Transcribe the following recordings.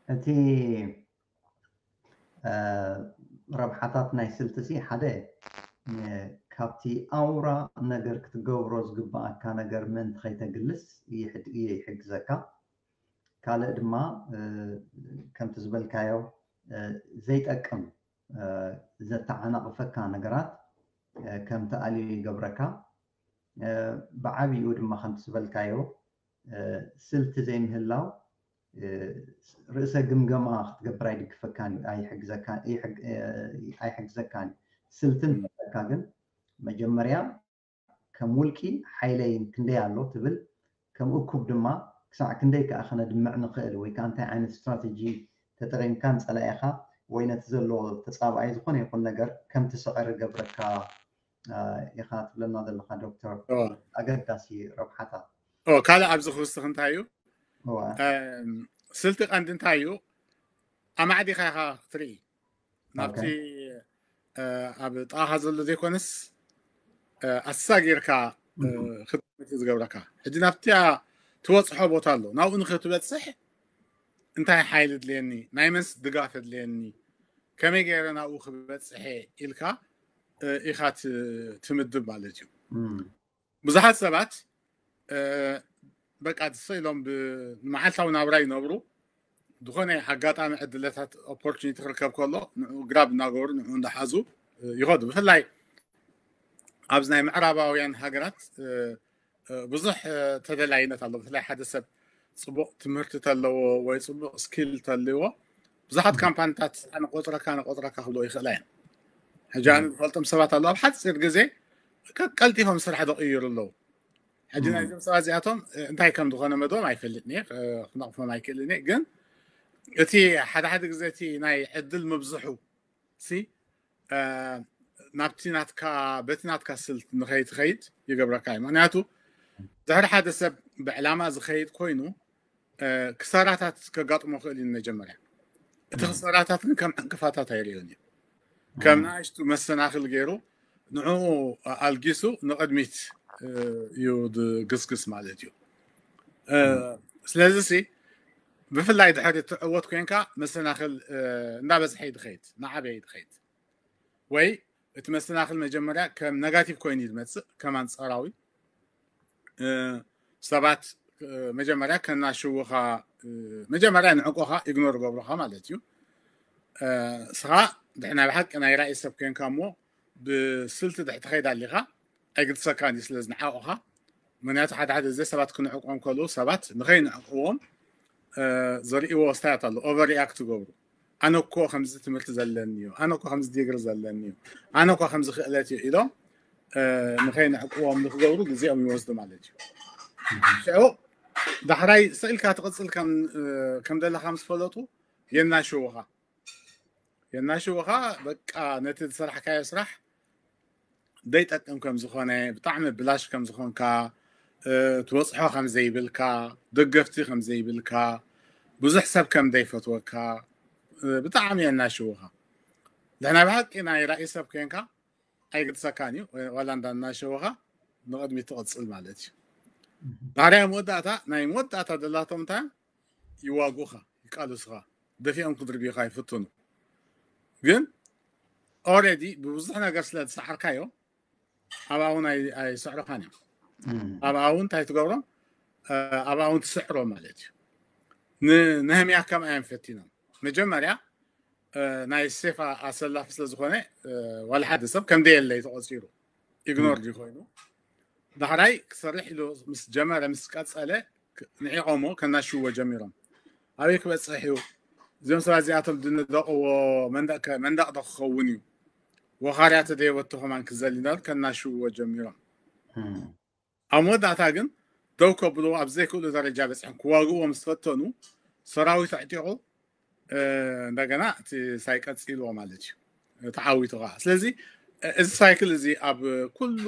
እቲ ረብሓታት ናይ ስልቲ ሲ ሓደ ካብቲ ኣውራ ነገር ክትገብሮ ዝግባኣካ ነገር ምእንቲ ከይተግልስ ይሕግዘካ። ካልእ ድማ ከምቲ ዝበልካዮ ዘይጠቅም ዘተዓናቕፈካ ነገራት ከም ትኣልዮ ይገብረካ። ብዓብይኡ ድማ ከምቲ ዝበልካዮ ስልቲ ዘይምህላው ርእሰ ግምገማ ክትገብር ኣይድግፈካን እዩ፣ ኣይሕግዘካን እዩ። ስልቲ እንተለካ ግን መጀመርያ ከም ውልቂ ሓይለይ ክንደይ ኣሎ ትብል፣ ከም እኩብ ድማ ክሳዕ ክንደይ ከኣ ክነድምዕ ንኽእል ወይ ከዓ እንታይ ዓይነት ስትራተጂ ተጠቒምካ ንጸላኢኻ ወይ ነቲ ዘሎ ተጻባኣይ ዝኾነ ይኹን ነገር ከም ትስዕር ይገብረካ ኢኻ ትብለና ዘለኻ ዶክተር። ኣገዳሲ ረብሓታት። ካልእ ኣብዚ ክውስኽ እንታይ እዩ? ስልቲ ቀንዲ እንታይ እዩ? ኣማዕዲኻ ኢኻ ክትርኢ ናብቲ ኣብ ጥቓኻ ዘሎ ዘይኮነስ ኣሳጊርካ ክትምት ዝገብረካ። ሕጂ ናብቲ ትበፅሖ ቦታ ኣሎ፣ ናብኡ ንክትበፅሕ እንታይ ሓይሊ ድልየኒ፣ ናይ መንስ ድጋፍ ድልየኒ፣ ከመይ ገይረ ናብኡ ክበፅሐ ኢልካ ኢኻ ትምድብ ማለት እዩ። ብዙሓት ሰባት በቃ ስቕ ኢሎም ብመዓልታዊ ናብራ ይነብሩ። ዝኾነ ኣጋጣሚ ዕድለታት ኦፖርቹኒቲ ክርከብ ከሎ ንዑ ግራብ እናገበሩ ንዑ እንዳሓዙ ይኸዱ። ብፍላይ ኣብዚ ናይ ምዕራባውያን ሃገራት ብዙሕ ተደላይነት ኣሎ። ብፍላይ ሓደ ሰብ ፅቡቕ ትምህርቲ ተለዎ ወይ ፅቡቕ ስኪል ተልዎ ብዙሓት ካምፓኒታት ኣነቆፅረካ ኣነቆፅረካ ክብሎ ይኽእላ እየን። ሕጂ ኣነ ዝፈልጦም ሰባት ኣለዉ ኣብ ሓፂር ግዜ ቀልጢፎም ስራሕ ዘቕይሩ ኣለዉ። ሕጂ ናይዞም ሰባት እዚኣቶም እንታይ ከም ዝኾነ መደቦም ኣይፈልጥን እየ፣ ክነቕፎም ኣይክእልን እየ። ግን እቲ ሓደ ሓደ ግዜ እቲ ናይ ዕድል ምብዝሑ ሲ ናብቲ ናትካ በቲ ናትካ ስልት ንኸይትኸይድ ይገብረካ እዩ። ምክንያቱ ድሕሪ ሓደ ሰብ ብዕላማ ዝኸይድ ኮይኑ ክሳራታት ከጋጥሞ ክእል እዩ። መጀመርያ እቲ ክሳራታት ግን ከም ዕንቅፋታት ኣይርእዮን እዩ። ከም ንኣሽቱ መሰናኽል ገይሩ ንዕኡ ኣልጊሱ ንቕድሚት እዩ ዝግስግስ ማለት እዩ። ስለዚ ሲ ብፍላይ ድሕሪ ትዕወት ኮንካ መሰናኽል እንዳበዝሐ ይድኸይድ፣ ናዓበየ ይድኸይድ። ወይ እቲ መሰናኽል መጀመርያ ከም ነጋቲቭ ኮይኑ እዩ ዝመፅእ፣ ከም ኣንፃራዊ ሰባት መጀመርያ ከናሽውኻ መጀመርያ ንዕቆኻ ኢግኖር ገብሮኻ ማለት እዩ። ስኻ ድሕና ብሓቂ ናይ ራእይ ሰብ ኮንካ እሞ ብስልቲ ድሕቲ ኸይድ ኣሊኻ ኣይግድሰካን እዩ ስለ ዝንዓቑኻ። ምክንያቱ ሓደ ሓደ ግዜ ሰባት ክንዕቆም ከለዉ ሰባት ንኸይንዕቅዎም ዘርእዎ ስታያት ኣሎ። ኦቨር ሪኣክት ይገብሩ። ኣነ እኮ ከምዚ ትምህርቲ ዘለኒ እዩ፣ ኣነ እኮ ከምዚ ዲግሪ ዘለኒ እዩ፣ ኣነ እኮ ከምዚ ክእለት እዩ ኢሎም ንኸይንዕቅዎም ንክገብሩ ግዜኦም ይወስዱ ማለት እዩ። ሽዑ ዳሕራይ ስኢልካ ትቕፅል ከም ዘለካ ምስ ፈለጡ የናሽውኻ የናሽውኻ በቃ ነቲ ዝሰራሕካዮ ስራሕ ዘይጠቅም ከም ዝኾነ፣ ብጣዕሚ ብላሽ ከም ዝኾንካ፣ ትበፅሖ ከም ዘይብልካ፣ ደገፍቲ ከም ዘይብልካ፣ ብዙሕ ሰብ ከም ዘይፈትወካ ብጣዕሚ የናሽውኻ። ድሕና ብሓቂ ናይ ራእይ ሰብ ኮንካ ኣይግድሰካን እዩ። ዋላ እንዳናሸወኻ ንቕድሚት ትቕፅል ማለት እዩ። ዳሕራይ መወዳእታ ናይ መወዳእታ ደላቶም እንታይ ይዋጉኻ፣ ይቃልሱኻ፣ ደፊኦም ክድርብዩኻ ይፍትኑ። ግን ኦረዲ ብብዙሕ ነገር ስለ ዝሰዓርካዮ ኣብኣ እውን ኣይስዕሩኻን እዮም። ኣብኣ እውን እንታይ ትገብሮም? ኣብኣ እውን ትስዕሮ ማለት እዩ። ንነህምያ ከምኣ እዮም ፈቲኖም። መጀመርያ ናይ ሴፍ ኣሰላፊ ስለ ዝኾነ ዋላ ሓደ ሰብ ከም ደየለይ ተቆፂሩ ኢግኖር ድዩ ኮይኑ ዳሕራይ ክሰርሕ ኢሉ ምስ ጀመረ ምስ ቀፀለ ንዒቆሞ ከናሽዎ ጀሚሮም። ኣበይ ክበፅሕ እዩ? እዚኦም ሰባት እዚኣቶም ድንደቕዎ መንደቕ ዶ ክኸውን እዩ? ወኻርያ ተደየበቶ ከማን ክዘል እንዳሉ ከናሽዎ ጀሚሮም። ኣብ መወዳእታ ግን ደው ከብልዎ ኣብ ዘይክእሉ ደረጃ በፅሖም ክዋግእዎ ምስ ፈተኑ ሰራዊት ኣዕጢቑ እንደገና እቲ ሳይቀፂልዎ ማለት እዩ። ተዓዊቱ ከዓ ስለዚ እዚ ሳይክል እዚ ኣብ ኩሉ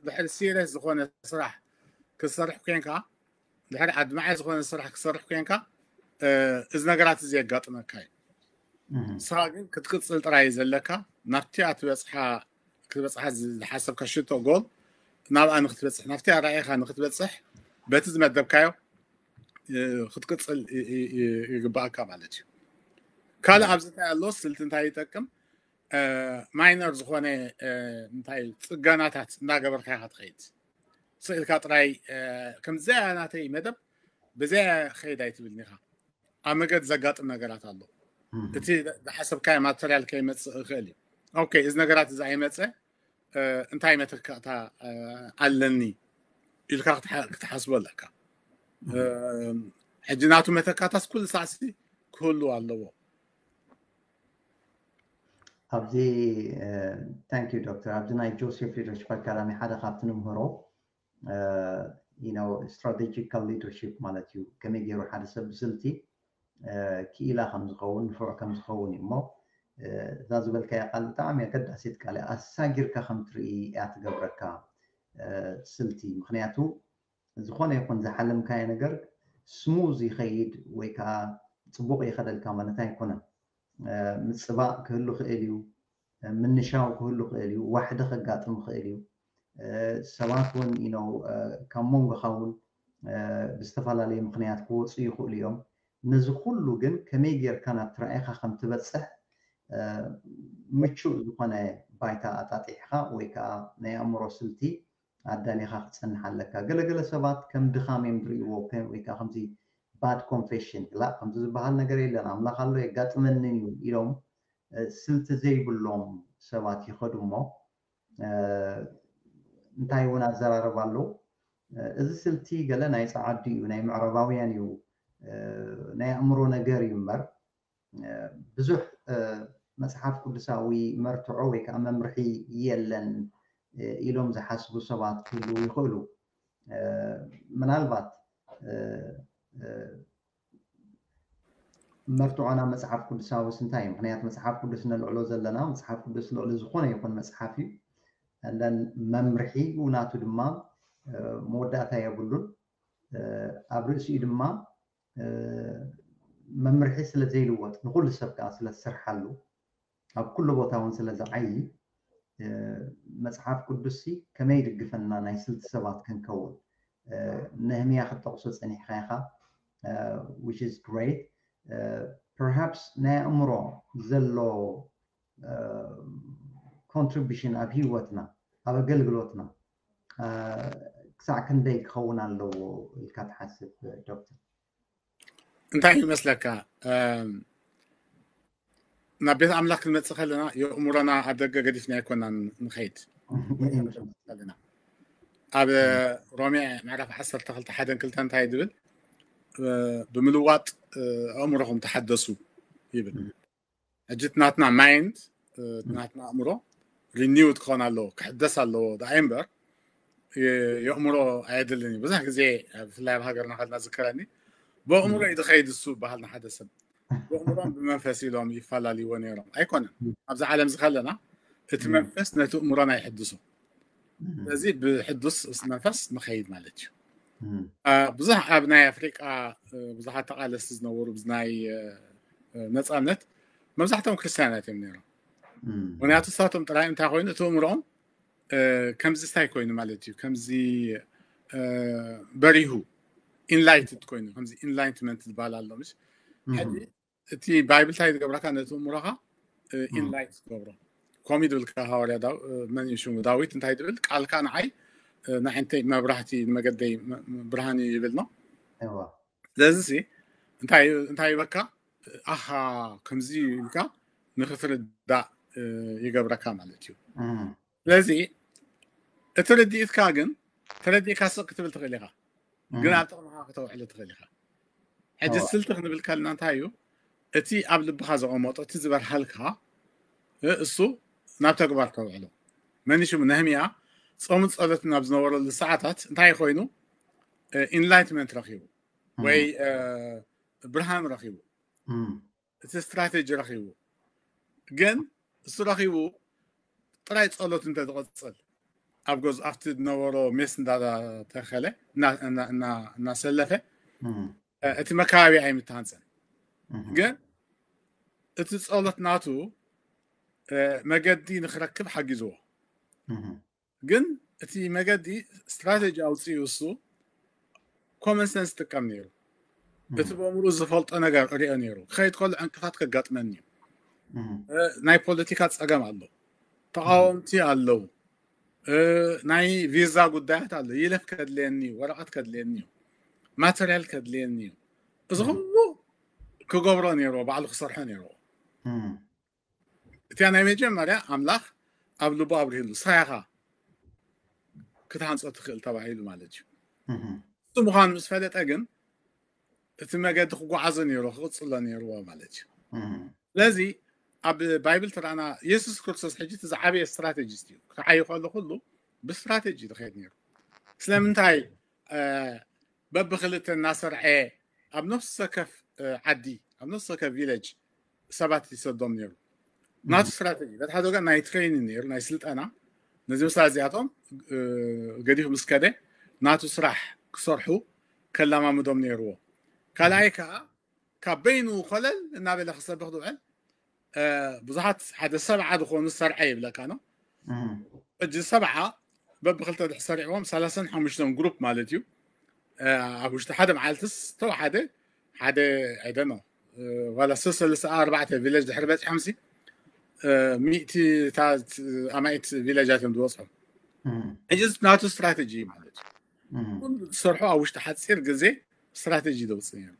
ድሕሪ ሲሪየስ ዝኾነ ስራሕ ክትሰርሕ ኮንካ ድሕሪ ኣድማዒ ዝኾነ ስራሕ ክትሰርሕ ኮንካ እዚ ነገራት እዚ የጋጥመካ እዩ። ንስኻ ግን ክትቅፅል ጥራይ ዘለካ ናብቲኣ ትበፅሓ ክትበፅሓ ዝሓሰብካ ሽቶ ጎል ናብኣ ንክትበፅሕ ናብቲኣ ራእይኻ ንክትበፅሕ በቲ ዝመደብካዮ ክትቅፅል ይግባእካ ማለት እዩ። ካልእ ኣብዚ እንታይ ኣሎ፣ ስልቲ እንታይ ይጠቅም? ማይነር ዝኾነ እንታይ ፅገናታት እንዳገበርካ ኢኻ ትኸይድ። ስኢልካ ጥራይ ከምዚያ ናተይ መደብ ብዚያ ከይድ ኣይትብልን ኢኻ። ኣብ መገድ ዘጋጥም ነገራት ኣሎ። እቲ ዝሓሰብካዮ ማተርያል ከይመፅእ ይኽእል እዩ። ኦኬ፣ እዚ ነገራት እዚ ኣይመፀ፣ እንታይ መተካእታ ኣለኒ ኢልካ ክትሓስቦ ኣለካ። ሕጂ ናቱ መተካእታስ ኩሉ ሳዕሲ ክህሉ ኣለዎ። ኣብዚ ታንክ ዩ ዶክተር፣ ኣብዚ ናይ ጆሴፍ ሊደርሽፕ ኣካዳሚ ሓደ ካብቲ ንምህሮ ስትራቴጂካል ሊደርሽፕ ማለት እዩ። ከመይ ገይሩ ሓደ ሰብ ብስልቲ ክኢላ ከም ዝኸውን፣ ንፉዕ ከም ዝኸውን እዩ። እሞ እዛ ዝበልካያ ቃል ብጣዕሚ ኣገዳሲት ቃል እያ። ኣሳጊርካ ከም ትርኢ እያ ትገብረካ ስልቲ። ምክንያቱ ዝኾነ ይኹን ዝሓለምካዮ ነገር ስሙዝ ይኸይድ ወይ ከዓ ፅቡቕ ይኸደልካ ማለት ኣይኮነን። ምፅባቕ ክህሉ ክእል እዩ፣ ምንሻው ክህሉ ክእል እዩ፣ ዋሕዲ ከጋጥም ክእል እዩ። ሰባት እውን ኢነው ካብ መንጎኻ እውን ብዝተፈላለየ ምክንያት ክወፁ ይኽእሉ እዮም። ነዚ ኩሉ ግን ከመይ ጌርካ ናብ ትራእይካ ከም ትበፅሕ ምቹእ ዝኾነ ባይታ ኣጣጢሕካ ወይ ከዓ ናይ ኣእምሮ ስልቲ ኣዳሊኻ ክትፀንሕ ኣለካ። ገለገለ ሰባት ከም ድኻም እዮም ዝርእይዎ ወይ ከዓ ከምዚ ባድ ኮንፌሽን ላ ከምዚ ዝበሃል ነገር የለን፣ ኣምላኽ ኣሎ የጋጥመንን እዩ ኢሎም ስልቲ ዘይብሎም ሰባት ይኸዱ እሞ እንታይ እውን ኣዘራርባ ኣለዉ። እዚ ስልቲ ገለ ናይ ፀዓዱ እዩ፣ ናይ ምዕራባውያን እዩ፣ ናይ ኣእምሮ ነገር እዩ እምበር ብዙሕ መፅሓፍ ቅዱሳዊ መርትዖ ወይ ከዓ መምርሒ የለን ኢሎም ዝሓስቡ ሰባት ክህልዉ ይኽእሉ። ምናልባት መርትዖና መፅሓፍ ቅዱሳዊስ እንታይ እዩ? ምክንያቱ መፅሓፍ ቅዱስ ነልዕሎ ዘለና መፅሓፍ ቅዱስ ልዕሊ ዝኾነ ይኹን መፅሓፍ እዩ። እንደን መምርሒ ናቱ ድማ መወዳእታ የብሉን። ኣብ ርእሲኡ ድማ መምርሒ ስለ ዘይልወጥ ንኩሉ ሰብ ከዓ ስለ ዝስርሓሉ ኣብ ኩሉ ቦታ እውን ስለ ዝዓይ መፅሓፍ ቅዱስ ከመይ ይድግፈና ናይ ስልቲ ሰባት ክንከውን ነህምያ ክትጠቕሶ ፀኒሕካ ኢኻ which is great perhaps ናይ ኣእምሮ ዘሎ contribution ኣብ ህይወትና ኣብ ኣገልግሎትና ክሳዕ ክንደይ ክኸውን ኣለዎ ኢልካ ትሓስብ ዶክተር? እንታይ ይመስለካ? ናብ ቤት ኣምላኽ ክንመፅእ ከለና የእምሮና ኣብ ደገ ገዲፍና ኣይኮናን ንኸይድ። ኣብ ሮሜ ምዕራፍ ዓሰርተ ክልተ ሓደን ክልተ እንታይ ዝብል ብምልዋጥ ኣእምሮኹም ተሓደሱ ይብል። ሕጂ ናትና ማይንድ ናትና ኣእምሮ ሪኒውድ ክኾን ኣለዎ፣ ክሕደስ ኣለዎ። ደኣይ እምበር የእምሮ ኣየድልን እዩ። ብዙሕ ግዜ ብፍላይ ኣብ ሃገርና ከልና ዝከረኒ ብኣእምሮ እዩ ዝኸይድ እሱ በሃል ንሓደ ሰብ ብኣእምሮን ብመንፈስ ኢሎም ይፈላለይዎ ነይሮም። ኣይኮነን። ኣብዚ ዓለም እዚ ከለና እቲ መንፈስ ነቲ ኣእምሮና ይሕድሶ። ስለዚ ብሕዱስ መንፈስ ንኸይድ ማለት እዩ። ብዙሕ ኣብ ናይ ኣፍሪቃ ብዙሓት ተቃለስቲ ዝነበሩ ናይ ነፃነት መብዛሕትኦም ክርስትያናት እዮም ነይሮም። ምክንያቱ ንሳቶም ጥራይ እንታይ ኮይኑ እቲ ኣእምሮኦም ከምዚ እንታይ ኮይኑ ማለት እዩ፣ ከምዚ በሪሁ ኢንላይትድ ኮይኑ ከምዚ ኢንላይትመንት ዝበሃል ኣሎ። ምስ ሕጂ እቲ ባይብል እንታይ ዝገብረካ ነቲ ኣእምሮኻ ኢንላይት ዝገብሮ ከምኡ ድብልካ ሃዋርያ መን ሽሙ ዳዊት እንታይ ድብል ቃልካ ንዓይ ንዓይንተይ መብራህቲ ንመገደይ ብርሃን እዩ ይብል ነው። ስለዚ እንታይ ይበካ ኣሃ ከምዚ ኢልካ ንክትርዳእ ይገብረካ ማለት እዩ። ስለዚ እቲ ርድኢትካ ግን ተረዲእካ ስቕ ክትብል ትኽእል ኢኻ፣ ግን ኣብ ጥቕምኻ ክተውዕሎ ትኽእል ኢኻ። ሕጂ ስልቲ ክንብል ከልና እንታይ እዩ? እቲ ኣብ ልብኻ ዘቐመጦ እቲ ዝበርሃልካ እሱ ናብ ተግባር ተውዕሎ። መን ሽሙ ነህምያ ጾምን ጸሎትን ኣብ ዝነበረሉ ሰዓታት እንታይ ኮይኑ ኢንላይትመንት ረኺቡ ወይ ብርሃን ረኺቡ እቲ ስትራቴጂ ረኺቡ ግን እሱ ረኺቡ ጥራይ ጸሎት እንተ ዝቐጽል ኣብ ገዝ ኣብቲ ዝነበሮ ሜስ እንዳተኸለ እናሰለፈ እቲ መካባቢ ኣይምተሃንፀን። ግን እቲ ጸሎት ናቱ መገዲ ንክረክብ ሓጊዝዎ። ግን እቲ መገዲ ስትራቴጂ ኣውፅኡ እሱ ኮመን ሰንስ ጥቀም ነይሩ። እቲ በምሩ ዝፈልጦ ነገር እሪኦ ነይሩ። ክኸይድ ከሎ ዕንቅፋት ከጋጥመኒ እዩ። ናይ ፖለቲካ ፀገም ኣሎ፣ ተቃወምቲ ኣለዉ፣ ናይ ቪዛ ጉዳያት ኣሎ፣ ይለፍ ከድልየኒ እዩ፣ ወረቐት ከድልየኒ እዩ፣ ማተርያል ከድልየኒ እዩ። እዚ ኩሉ ክገብሮ ነይርዎ፣ ባዕሉ ክሰርሖ ነይርዎ። እቲያ ናይ መጀመርያ ኣምላኽ ኣብ ልቡ ኣብርሂሉ፣ ስራይኻ ክትሃንጾ ትኽእል ተባሂሉ ማለት እዩ። እሱ ምዃኑ ምስ ፈለጠ ግን እቲ መገዲ ክጓዓዞ ነይርዎ፣ ክቕጽሎ ነይርዎ ማለት እዩ። ስለዚ ኣብ ባይብል ተራእና የሱስ ክርስቶስ ሕጂ እቲ ዝዓበየ ስትራቴጂስት እዩ። ክዓዩ ከሎ ኩሉ ብስትራቴጂ ዝኸይድ ነይሩ። ስለምንታይ በብክልተ እናሰርዐ ኣብ ነፍሲ ወከፍ ዓዲ፣ ኣብ ነፍሲ ወከፍ ቪለጅ ሰባት ይሰዶም ነይሩ። ናቱ ስትራቴጂ በቲ ሓደ ወገን ናይ ትሬኒንግ ነይሩ፣ ናይ ስልጠና። ነዚ ምሳ እዚኣቶም ገዲፉ ምስ ከደ ናቱ ስራሕ ክሰርሑ ከላማምዶም ነይርዎ። ካልኣይ ከዓ ካብ በይኑ ኮለል እናበለ ክሰብኽ ዝውዕል ብዙሓት ሓደ ሰብዓ ዝኾኑ ሰርዐ ይብለካ ነው። ሕጂ ሰብዓ በብክልተ ድሕር ሰሪዕዎም ሰላሳን ሓሙሽተን ግሩፕ ማለት እዩ። ኣብ ውሽጢ ሓደ መዓልትስ ተወሓደ ሓደ፣ I don't know፣ ዋላ ሰለስተ ኣርባዕተ ቪለጅ ድሕር በፂሖም ሲ ሚእቲታት ኣማኢት ቪለጃት እዮም ዝበፅሑ። ሕጂ ናቱ ስትራቴጂ ማለት እዩ። ኩሉ ዝሰርሑ ኣብ ውሽጢ ሓፂር ግዜ ስትራቴጂ ዘውፅእ ነይሩ።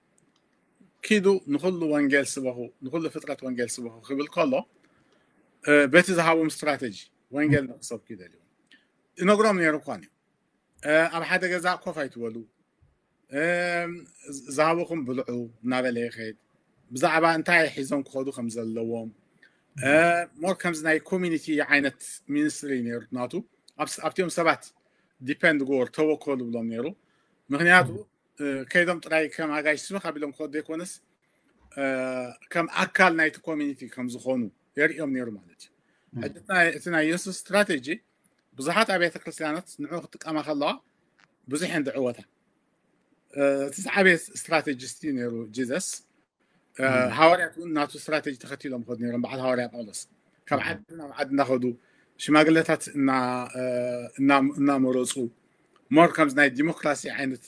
ኪዱ ንኩሉ ወንጌል ስበኹ፣ ንኩሉ ፍጥረት ወንጌል ስበኹ ክብል ከሎ በቲ ዝሃቦም ስትራቴጂ ወንጌል ንክሰብኩ ይደልዩ። ይነግሮም ነይሩ እኳ እዩ። ኣብ ሓደ ገዛ ኮፍ ኣይትበሉ፣ ዝሃበኹም ብልዑ እናበለ ይኸይድ። ብዛዕባ እንታይ ሒዞም ክኸዱ ከም ዘለዎም፣ ሞር ከምዚ ናይ ኮሚኒቲ ዓይነት ሚኒስትሪ ነይሩ ናቱ። ኣብቲኦም ሰባት ዲፐንድ ጎር ተወከሉ ብሎም ነይሩ። ምክንያቱ ከይዶም ጥራይ ከም ኣጋይሽ ስበኽ ኣቢሎም ክኸዱ ዘይኮነስ ከም ኣካል ናይቲ ኮሚኒቲ ከም ዝኾኑ የርእዮም ነይሩ ማለት እዩ። እቲ ናይ የሱስ ስትራቴጂ ብዙሓት ኣብያተ ክርስትያናት ንዑ ክጥቀማ ከለዋ ብዙሕ እየን ዝዕወታ። እቲ ዝዓበየ ስትራቴጂስት እዩ ነይሩ ጂዘስ። ሃዋርያት እውን ናቱ ስትራቴጂ ተኸቲሎም ከዱ ነይሮም። በዓል ሃዋርያ ጳውሎስ ካብ ዓዲ ናብ ዓዲ እናኸዱ ሽማግለታት እናመረፁ ሞር ከምዚ ናይ ዲሞክራሲ ዓይነት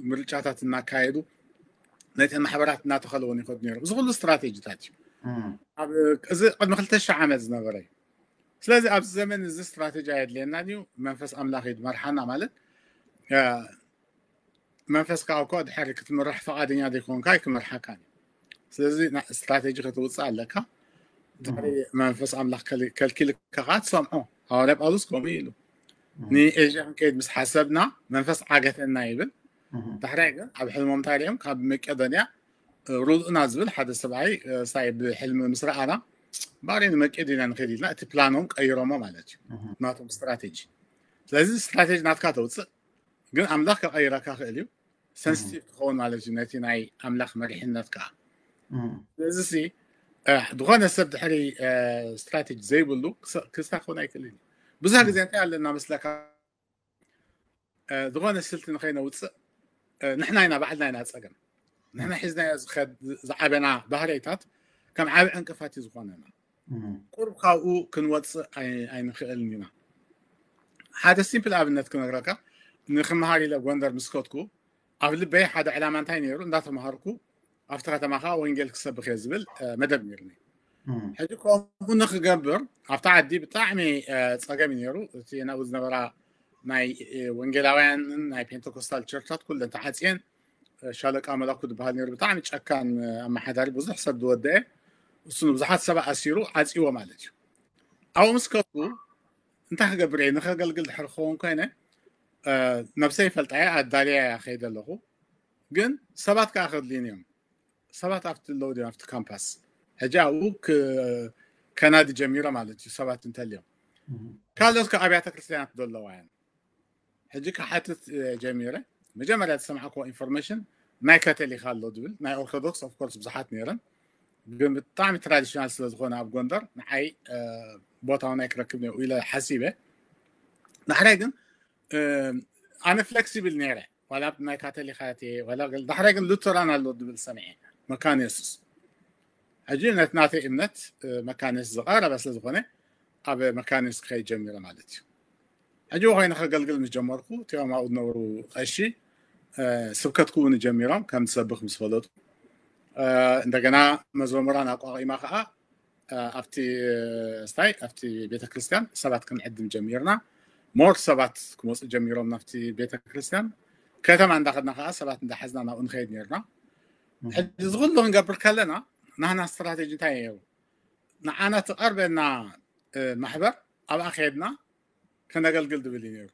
ምርጫታት እናካየዱ ነተን ማሕበራት እናተኸለውን ይኸዱ ነይሮም። እዚ ኩሉ ስትራቴጂታት እዩ። እዚ ቅድሚ ክልተ ሺሕ ዓመት ዝነበረ እዩ። ስለዚ ኣብዚ ዘመን እዚ ስትራቴጂ ኣየድልየናን እዩ። መንፈስ ኣምላኽ እዩ ዝመርሓና ማለት መንፈስካ እኮ ድሕሪ ክትምራሕ ፈቓደኛ ዘይኮንካ ኣይክመርሓካን እዩ። ስለዚ ስትራቴጂ ክትውፅእ ኣለካ። ድሕሪ መንፈስ ኣምላኽ ከልኪልካ ከዓ ትሰምዖ። ሃዋርያ ጳውሎስ ከምኡ ኢሉ ንኤዥያ ክንከይድ ምስ ሓሰብና መንፈስ ዓገተና ይብል። ዳሕራይ ግን ኣብ ሕልሞም እንታይ ሪኦም ካብ መቄዶንያ ሩልኡና ዝብል ሓደ ሰብኣይ ሳይ ብሕልሚ ምስ ረኣና ባሪ ንመቄዶንያ ንኸይድ ኢልና እቲ ፕላኖም ቀይሮሞ ማለት እዩ። ናቶም ስትራቴጂ። ስለዚ ስትራቴጂ ናትካ ተውፅእ ግን ኣምላኽ ከቐይረካ ክእል እዩ። ሰንስቲቭ ትኸውን ማለት እዩ ነቲ ናይ ኣምላኽ መሪሕነት ከዓ። ስለዚ ሲ ዝኾነ ሰብ ድሕሪ ስትራቴጂ ዘይብሉ ክስታ ክኸውን ኣይክእልን እዩ። ብዙሕ ግዜ እንታይ ኣለና መስለካ ዝኾነ ስልቲ ንኸይነውፅእ ንሕና ኢና ባዕልና ኢና ፀገም። ንሕና ሒዝናዮ ዝኸድ ዝዓበና ባህርይታት ከም ዓብ ዕንቅፋት እዩ ዝኾነና። ቁርብ ካብኡ ክንወፅእ ኣይንኽእልን ኢና። ሓደ ሲምፕል ኣብነት ክነግረካ። ንክመሃር ኢለ ጎንደር ምስ ከድኩ ኣብ ልበይ ሓደ ዕላማ እንታይ ነይሩ? እንዳተምሃርኩ ኣብቲ ከተማ ከዓ ወንጌል ክሰብኽ እየ ዝብል መደብ ነይሩኒ። ሕጂ ከምኡ ንክገብር ኣብቲ ዓዲ ብጣዕሚ ፀገም እዩ ነይሩ። እቲ ናብኡ ዝነበራ ናይ ወንጌላውያንን ናይ ፔንቴኮስታል ቸርቻት ኩለን ተዓፅየን። ሻለቃ መላኩ ዝበሃል ነይሩ ብጣዕሚ ጨካን ኣመሓዳሪ ብዙሕ ሰብ ዝወደአ። እሱ ንብዙሓት ሰብ ኣሲሩ ዓፅዎ ማለት እዩ። ኣብኡ ምስ ከድኩ እንታይ ክገብር እየ ንከገልግል ድሕር ክኸውን ኮይነ ነብሰይ ይፈልጣ እየ ኣዳልያ እያ ከይደ ኣለኹ። ግን ሰባት ከዓ ከድልዩኒ እዮም። ሰባት ኣብቲ ኣለዉ ድዮም ኣብቲ ካምፓስ? ሕጂ ኣብኡ ከናዲ ጀሚረ ማለት እዩ። ሰባት እንተልዮም ካልኦት ከ ኣብያተ ክርስትያናት ዘለዋ እየን። ሕጂ ክሓትት ጀሚረ። መጀመርያ ዝሰማዕክዎ ኢንፎርሜሽን ናይ ካቶሊክ ኣሎ ዝብል ናይ ኦርቶዶክስ ኦፍኮርስ ብዙሓት ነይረን። ግን ብጣዕሚ ትራዲሽናል ስለዝኾነ ኣብ ጎንደር ንዓይ ቦታውን ኣይክረክብ ኢለ ሓሲበ። ዳሕራይ ግን ኣነ ፍለክሲብል ነይረ። ዋላ ናይ ካቶሊካት እየ ዋላ ዳሕራይ ግን ሉተራን ኣሎ ዝብል ሰምዐ። መካነ የሱስ ሕጂ ነቲ ናተይ እምነት መካነ የሱስ ዝቐረበ ስለዝኾነ ኣብ መካነ የሱስ ክኸይድ ጀሚረ ማለት እዩ። ሕጂ ኮይነ ከገልግል ምስ ጀመርኩ እቲኦም ኣብኡ ዝነበሩ ቀሺ ስብከት ክውን ጀሚሮም ከም ዝሰብኽ ምስ ፈለጡ፣ እንደገና መዘሙራን ኣቋቒማ ከዓ ኣብቲ ስታይ ኣብቲ ቤተክርስትያን ሰባት ክንዕድም ጀሚርና። ሞር ሰባት ክመፁ ጀሚሮም ናብቲ ቤተክርስትያን። ከተማ እንዳኸድና ከዓ ሰባት እንዳሓዝና ናብኡ ንኸይድ ነርና። ሕዚ እዚ ኩሉ ክንገብር ከለና ናህና ስትራቴጂ እንታይ ነይሩ? ንዓና ትቐርበና ማሕበር ኣብኣ ከድና ከነገልግል ዝብል እዩ ነይሩ።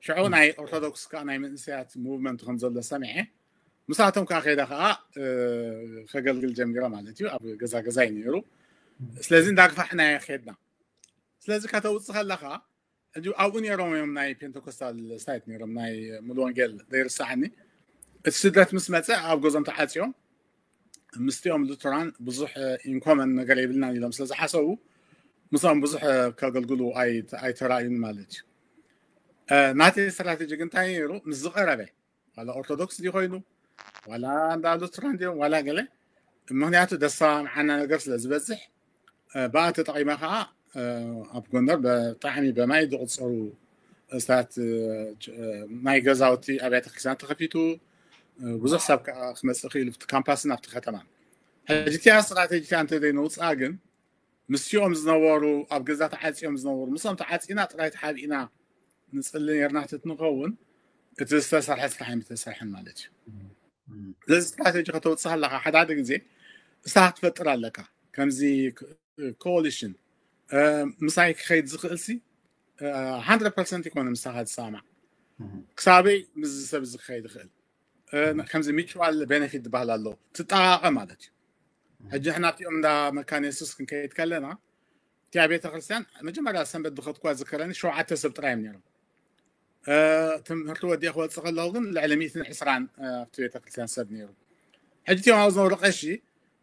ሽዑ ናይ ኦርቶዶክስ ከዓ ናይ መንእሰያት ሙቭመንት ከም ዘሎ ሰሚዐ፣ ምስኣቶም ከዓ ከይደ ከዓ ከገልግል ጀሚረ ማለት እዩ። ኣብ ገዛ ገዛ እዩ ነይሩ። ስለዚ እንዳግፋሕና ከድና። ስለዚ ከተውፅእ ከለካ፣ ኣብኡ ነይሮም እዮም ናይ ፔንቴኮስታል ስታይት ነይሮም፣ ናይ ሙሉ ወንጌል ዘይርስዓኒ። እቲ ስደት ምስ መፀ ኣብ ገዞም ተዓፅዮም፣ ምስቲኦም ሉተራን ብዙሕ ኢንኮመን ነገር የብልናን ኢሎም ስለ ዝሓሰቡ፣ ምስኦም ብዙሕ ከገልግሉ ኣይተራእዩን ማለት እዩ። ናተይ ስትራቴጂ ግን እንታይ ነይሩ? ምስ ዝቐረበ ዋላ ኦርቶዶክስ ድዩ ኮይኑ ዋላ እንዳ ሉትራን ድዮም ዋላ ገለ፣ ምክንያቱ ደሳ መዓና ነገር ስለ ዝበዝሕ፣ ብኣ ተጠቒመ ከዓ ኣብ ጎንደር ብጣዕሚ በማይ ዝቁፀሩ ስታት ናይ ገዛውቲ ኣብያተ ክርስቲያን ተኸፊቱ፣ ብዙሕ ሰብ ከዓ ክመፅእ ክኢሉ ኣብቲ ካምፓስን ኣብቲ ከተማን። ሕጂ እቲኣ ስትራቴጂ እንተ ዘይነውፅኣ ግን ምስኦም ዝነበሩ ኣብ ገዛ ተዓፅዮም ዝነበሩ ምስኦም ተዓፂና ጥራይ ተሓቢእና ንፅሊ ነርና ትትንኸውን እቲ ዝተሰርሐ ስራሕ ኣይምተሰርሐን ማለት እዩ። ስለዚ ስትራቴጂ ከተውፅእ ኣለካ ሓደ ሓደ ግዜ እሳ ክትፈጥር ኣለካ። ከምዚ ኮሊሽን ምሳይ ክኸይድ ዝኽእል ሲ ሓንድረድ ፐርሰንት ይኮነ ምሳኻ ዝሰማዕ ክሳበይ ምስ ሰብ እዚ ክኸይድ ይኽእል። ከምዚ ሚቹዋል ቤነፊት ዝበሃል ኣሎ ትጠቃቀ ማለት እዩ። ሕጂ ንሕና ኣብቲኦም እንዳ መካነ የሱስ ክንከይድ ከለና እቲኣ ቤተክርስትያን መጀመርያ ሰንበት ዝኸድኩዋ ዝከረኒ ሸውዓተ ሰብ ጥራይ እዮም ነይሮም። ትምህርቲ ወዲአ ክወፅእ ከለኹ ግን ልዕሊ ሚእትን ዕስራን ኣብቲ ቤተክርስትያን ሰብ ነይሩ። ሕጂ እቲኦም ኣብ ዝነበሩ ቀሺ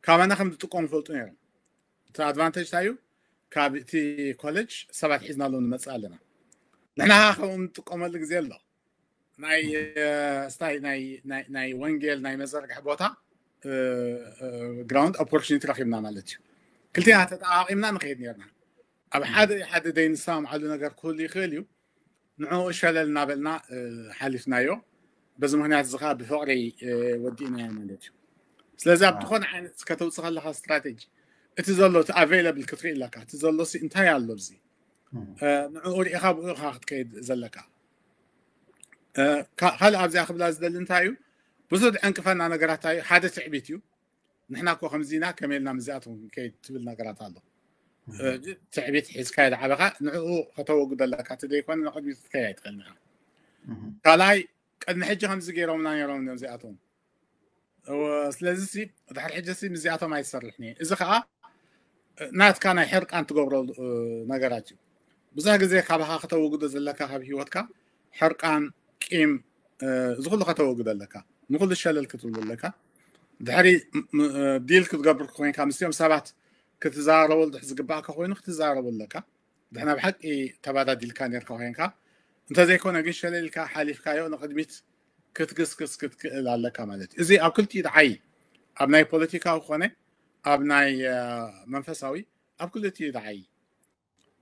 ካባና ከም ዝጥቀሙ ይፈልጡ ነይሮም። እቲ ኣድቫንቴጅ እንታይ እዩ? ካብ እቲ ኮሌጅ ሰባት ሒዝናሎም ንመፅእ ኣለና። ንሕና ከምኡ ንጥቀመሉ ግዜ ኣሎ። ናይ ስታይ ናይ ወንጌል ናይ መዘርግሒ ቦታ ግራውንድ ኦፖርቹኒቲ ረኪብና ማለት እዩ። ክልቲና ተጠቃቂምና ንኸይድ ነርና። ኣብ ሓደ ሓደ ዘይንሰማምዓሉ ነገር ክህሉ ይኽእል እዩ። ንዕኡ ሸለል እናበልና ሓሊፍናዮ። በዚ ምክንያት እዚ ከዓ ብፍቅሪ ወዲእናዮ ማለት እዩ። ስለዚ ኣብ ዝኾነ ዓይነት ከተውፅእ ከለካ ስትራቴጂ እቲ ዘሎ እቲ ኣቬይለብል ክትርኢ ኣለካ። እቲ ዘሎ ሲ እንታይ ኣሎ ኣብዚ ንዕኡ ሪኢኻ ብኡ ኢኻ ክትከይድ ዘለካ። ካልእ ኣብዚኣ ክብላ ዝደሊ እንታይ እዩ? ብዙሕ ዝዕንቅፈና ነገራት እንታይ እዩ? ሓደ ትዕቢት እዩ። ንሕና እኮ ከምዚና ከመይ ኢልና ምስዚኣቶም ክንከይድ ትብል ነገራት ኣሎ። ትዕቢት ሒዝካ ይልዓበኻ ንዕኡ ከተወግዶ ኣለካ። እቲ ዘይኮነ ንቅድሚት ክትከይድ ኣይትኽእልን ኢኻ። ካልኣይ ቅድሚ ሕጂ ከምዚ ገይሮምና ነይሮም እዮም እዚኣቶም። ስለዚ ድሕሪ ሕጂ ምስዚኣቶም ኣይትሰርሕን እየ። እዚ ከዓ ናትካ ናይ ሕርቃን ትገብሮ ነገራት እዩ። ብዙሕ ግዜ ካባኻ ከተወግዶ ዘለካ ካብ ህይወትካ ሕርቃን፣ ቂም፣ እዚ ኩሉ ከተወግዶ ኣለካ። ንኩሉ ሸለል ክትብሉ ኣለካ። ድሕሪ ዲል ክትገብር ኮይንካ ምስኦም ሰባት ክትዛረበሉ ድሕ ዝግባእካ ኮይኑ ክትዛረቡ ኣለካ። ድሕና ብሓቂ ተባዳዲልካ ነርካ ኮይንካ እንተዘይኮነ ግን ሸለልካ ሓሊፍካዮ ንቅድሚት ክትግስግስ ክትክእል ኣለካ ማለት እዩ። እዚ ኣብ ክልቲኡ ደዓይ ኣብ ናይ ፖለቲካዊ ኮነ ኣብ ናይ መንፈሳዊ ኣብ ክልቲኡ ደዓይ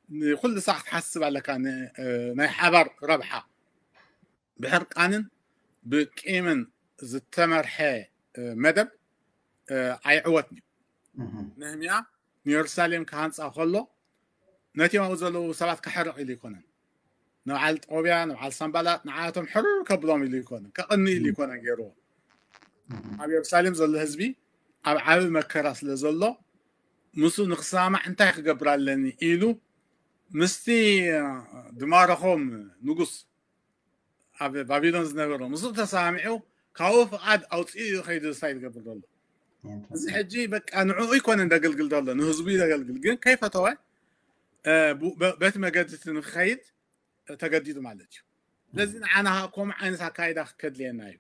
ንኩሉ ሳዕ ክትሓስብ ኣለካ። ናይ ሓባር ረብሓ ብሕርቃንን ብቂምን ዝተመርሐ መደብ ኣይዕወትን እዩ። ነህምያ ንየሩሳሌም ክሃንፃ ከሎ ነቲኦም ኣብኡ ዘለዉ ሰባት ክሕርቕ ኢሉ ይኮነን። ንበዓል ጦብያ ንበዓል ሳምባላ ንዓቶም ሕርር ከብሎም ኢሉ ይኮነን ከቕኒ ኢሉ ይኮነን ገይርዎ። ኣብ የሩሳሌም ዘሎ ህዝቢ ኣብ ዓብ መከራ ስለ ዘሎ ምስኡ ንክሰማማዕ እንታይ ክገብር ኣለኒ ኢሉ ምስቲ ድማረኾም ንጉስ ኣብ ባቢሎን ዝነበረ ምስኡ ተሰማሚዑ ካብኡ ፍቓድ ኣውፅኡ እዩ ከይዱ ዝሳይ ዝገብር ዘሎ። እዚ ሕጂ በቃ ንዕኡ ይኮነ እንደገልግል ዘሎ ንህዝቡ እዩ ዘገልግል ግን ከይፈተወ በቲ መገዲ እቲ ንክኸይድ ተገዲዱ ማለት እዩ። ስለዚ ንዓና ከምኡ ዓይነት ኣካይዳ ከድልየና እዩ።